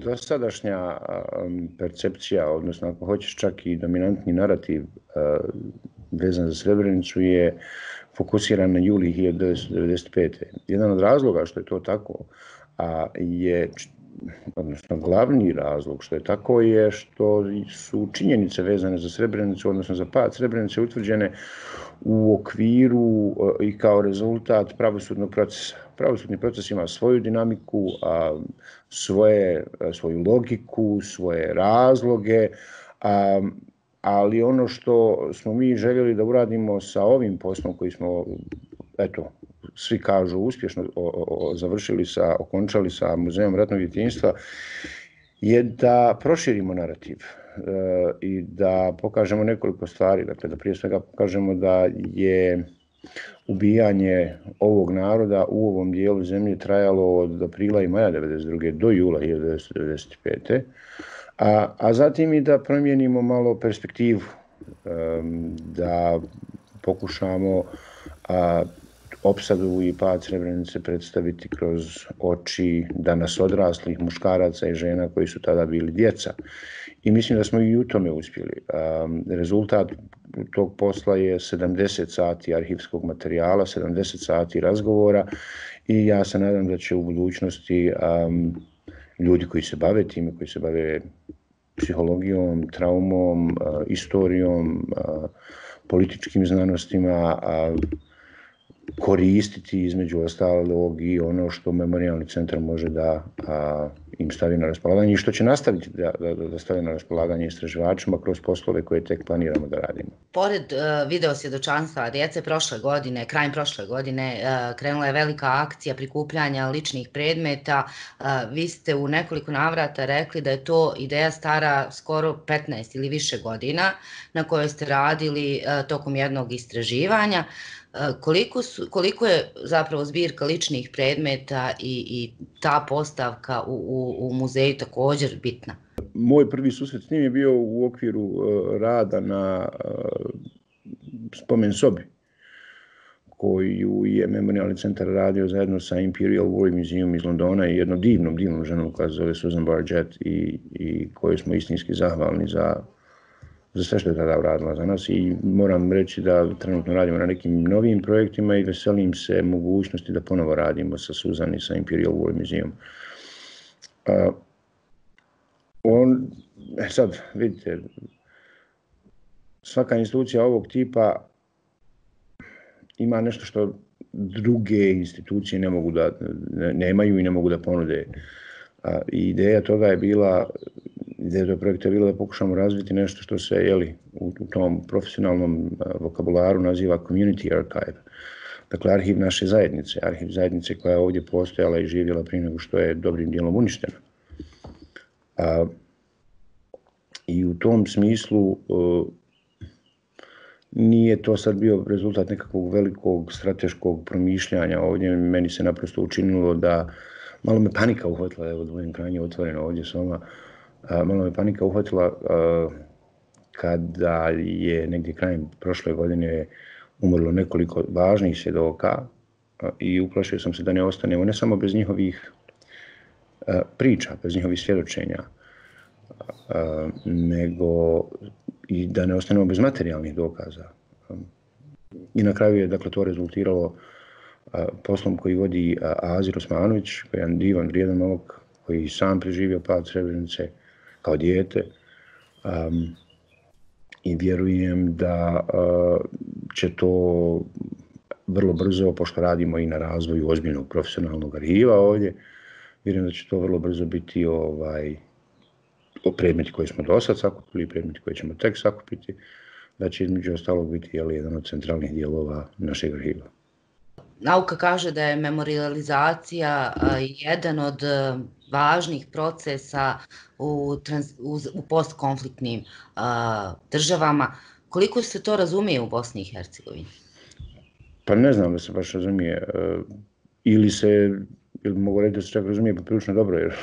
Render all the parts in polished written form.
dosadašnja percepcija, odnosno ako hoćeš čak i dominantni narativ vezan za Srebrenicu je fokusiran na juli 1995. Jedan od razloga što je to tako je, odnosno glavni razlog što je tako je što su činjenice vezane za Srebrenicu, odnosno za pad Srebrenice utvrđene u okviru i kao rezultat pravosudnog procesa. Pravosudni proces ima svoju dinamiku, svoju logiku, svoje razloge, ali ono što smo mi željeli da uradimo sa ovim poslom koji smo, eto, svi kažu uspješno okončali sa Muzejom ratnog djetinjstva, je da proširimo narativ i da pokažemo nekoliko stvari. Dakle, da prije svega pokažemo da je ubijanje ovog naroda u ovom dijelu zemlje trajalo od aprila i maja 1992. do jula 1995. A zatim i da promijenimo malo perspektivu, da pokušamo opsadu i pad Srebrenice predstaviti kroz oči danas odraslih muškaraca i žena koji su tada bili djeca. I mislim da smo i u tome uspjeli. Rezultat tog posla je 70 sati arhivskog materijala, 70 sati razgovora i ja se nadam da će u budućnosti ljudi koji se bave time, koji se bave psihologijom, traumom, istorijom, političkim znanostima, koristiti između ostalog i ono što Memorijalni centar može da im stavi na raspolaganje i što će nastaviti da stavi na raspolaganje istraživačima kroz poslove koje tek planiramo da radimo. Pored video svjedočanstva djece krajem prošle godine, krenula je velika akcija prikupljanja ličnih predmeta. Vi ste u nekoliko navrata rekli da je to ideja stara skoro 15 ili više godina na kojoj ste radili tokom jednog istraživanja. Koliko je zapravo zbirka ličnih predmeta i ta postavka u muzeju također bitna? Moj prvi susret s njim je bio u okviru rada na spomen sobi koju je Memorijalni centar radio zajedno sa Imperial War Museum iz Londona i jednom divnom ženom koja se zove Susan Bargett i kojoj smo istinski zahvalni za sve što je tada uradila za nas i moram reći da trenutno radimo na nekim novim projektima i veselim se mogućnosti da ponovo radimo sa Susan i sa Imperial War Museum. Sad, vidite, svaka institucija ovog tipa ima nešto što druge institucije nemaju i ne mogu da ponude. Ideja toga je bila, ideja tog projekta je bila da pokušamo razviti nešto što se u tom profesionalnom vokabularu naziva community archive. Dakle, arhiv naše zajednice, arhiv zajednice koja je ovdje postojala i živjela prije nego što je dobrim dijelom uništena. I u tom smislu nije to sad bio rezultat nekakvog velikog strateškog promišljanja ovdje. Meni se naprosto učinilo da malo me panika uhvatila, evo da budem krajnje otvoreno ovdje s vama, malo me panika uhvatila kada je negdje krajem prošle godine umrlo nekoliko važnih svjedoka i uplašio sam se da ne ostanemo ne samo bez njihovih priča, bez njihovih svjedočenja, nego i da ne ostanemo bez materijalnih dokaza. I na kraju je dakle to rezultiralo poslom koji vodi Azir Osmanović, koji je jedan divan, vrijedan momak, koji sam preživio pad Srebrenice kao dijete. I vjerujem da će to vrlo brzo, pošto radimo i na razvoju ozbiljnog profesionalnog arhiva ovdje, vjerujem da će to vrlo brzo biti predmeti koje smo do sad sakupili i predmeti koje ćemo tek sakupiti, da će između ostalog biti jedan od centralnih dijelova našeg arhiva. Nauka kaže da je memorijalizacija jedan od važnih procesa u postkonfliktnim državama. Koliko se to razumije u Bosni i Hercegovini? Pa ne znam da se baš razumije. Ili mogu reći da se čak razumije poprilično dobro, jer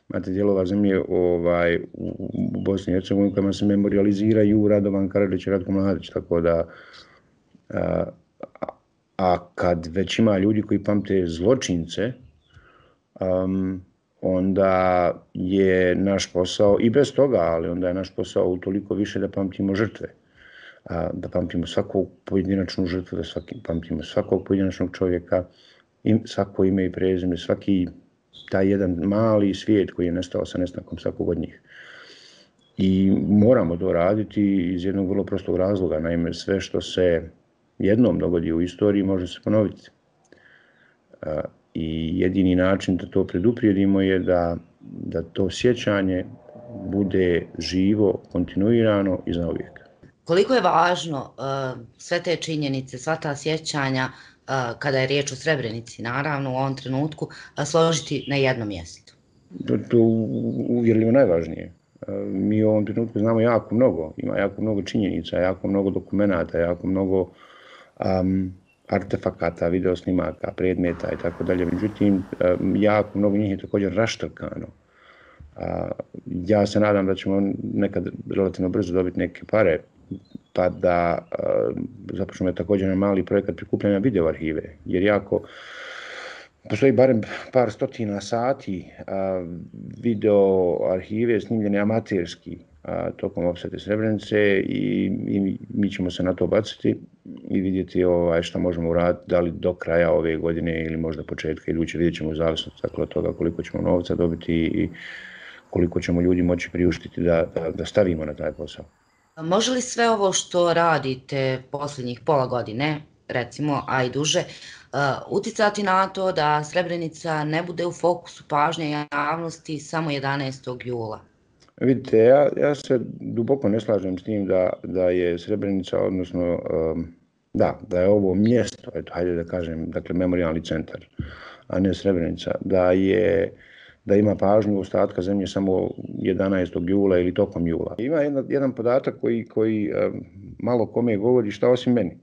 imate dijelova zemlje u Bosni i Hercegovini kojima se memorijaliziraju Radovan Karadžić i Ratko Mladić, tako da a kad već ima ljudi koji pamte zločince, onda je naš posao, i bez toga, ali onda je naš posao utoliko više da pamtimo žrtve. Da pamtimo svaku pojedinačnu žrtvu, da pamtimo svakog pojedinačnog čovjeka, svako ime i prezime, svaki taj jedan mali svijet koji je nestao sa nestankom svakog od njih. I moramo to raditi iz jednog vrlo prostog razloga. Naime, sve što se jednom dogodi u istoriji može se ponoviti. I jedini način da to preduprijedimo je da to sjećanje bude živo, kontinuirano i zauvijek. Koliko je važno sve te činjenice, sva ta sjećanja, kada je riječ o Srebrenici, naravno u ovom trenutku, složiti na jednom mjestu? To je uvjerljivo najvažnije. Mi u ovom trenutku znamo jako mnogo, ima jako mnogo činjenica, jako mnogo dokumenata, jako mnogo artefakata, videosnimaka, predmeta i tako dalje. Međutim, jako mnogo njih je također raštrkano. Ja se nadam da ćemo nekad relativno brzo dobiti neke pare, pa da započnemo također na mali projekat prikupljanja video arhive, jer postoji barem par stotina sati video arhive snimljene amaterski tokom opsade Srebrenice i mi ćemo se na to baciti i vidjeti što možemo uraditi, da li do kraja ove godine ili možda početka iduće, vidjet ćemo u zavisnosti od toga koliko ćemo novca dobiti i koliko ćemo ljudi moći priuštiti da stavimo na taj posao. Može li sve ovo što radite posljednjih pola godine, recimo, a i duže, uticati na to da Srebrenica ne bude u fokusu pažnje javnosti samo 11. jula? Vidite, ja se duboko ne slažem s tim da je Srebrenica, odnosno da je ovo mjesto, hajde da kažem, dakle memorijalni centar, a ne Srebrenica, da ima pažnju ostatka zemlje samo 11. jula ili tokom jula. Ima jedan podatak koji malo kome govori šta osim meni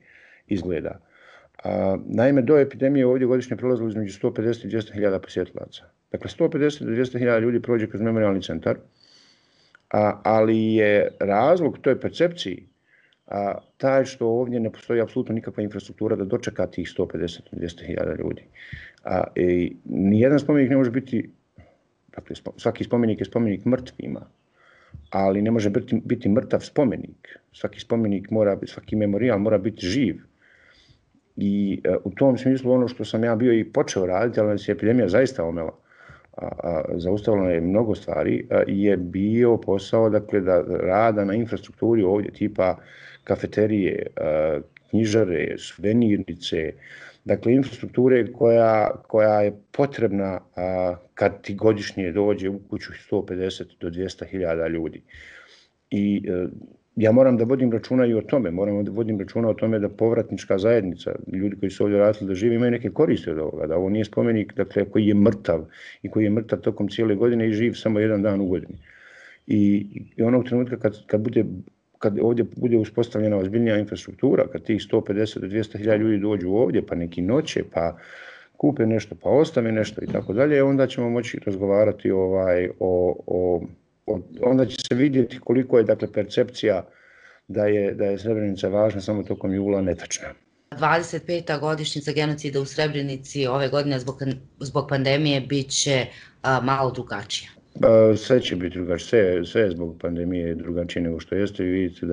izgleda. Naime, do epidemije ovdje godišnje prolazilo između 150 i 200 hiljada posjetilaca. Dakle, 150 do 200 hiljada ljudi prođe kroz memorijalni centar, ali je razlog toj percepciji taj što ovdje ne postoji apsolutno nikakva infrastruktura da dočeka tih 150 do 200 hiljada ljudi. Nijedan spomenik ne može biti, dakle, svaki spomenik je spomenik mrtvima, ali ne može biti mrtav spomenik. Svaki memorijal mora biti živ. I u tom smislu ono što sam ja bio i počeo raditi, ali nas je epidemija zaista omela, zaustavila je mnogo stvari, je bio posao, dakle, da rada na infrastrukturi ovdje, tipa kafeterije, knjižare, suvenirnice, dakle infrastrukture koja je potrebna kad ti godišnje dođe u kuću 150 do 200 hiljada ljudi. I ja moram da vodim računa i o tome, moram da vodim računa o tome da povratnička zajednica, ljudi koji su ovdje radili da žive, imaju neke koriste od ovoga, da ovo nije spomenik, dakle, koji je mrtav i koji je mrtav tokom cijele godine i živ samo jedan dan u godini. I onog trenutka kad ovdje bude uspostavljena ozbiljnija infrastruktura, kad tih 150 do 200 hiljada ljudi dođu ovdje, pa neki noće, pa kupe nešto, pa ostave nešto i tako dalje, onda ćemo moći razgovarati onda će se vidjeti koliko je, dakle, percepcija da je Srebrenica važna samo tokom jula netačna. 25. godišnjica genocida u Srebrenici ove godine zbog pandemije bit će malo drugačija. Sve će biti drugačije, sve je zbog pandemije drugačije nego što jeste. Vi vidite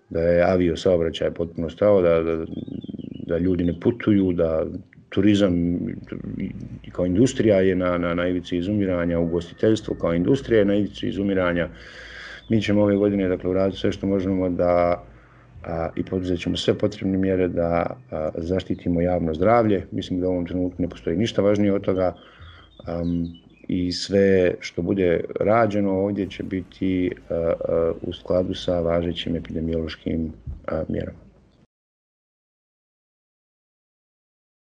da je avio saobraćaj potpuno stao, da ljudi ne putuju, da turizam kao industrija je na ivici izumiranja, ugostiteljstvo kao industrija je na ivici izumiranja. Mi ćemo ove godine, dakle, uraditi sve što možemo i poduzet ćemo sve potrebne mjere da zaštitimo javno zdravlje. Mislim da u ovom trenutku ne postoji ništa važnije od toga i sve što bude rađeno ovdje će biti u skladu sa važećim epidemiološkim mjerama.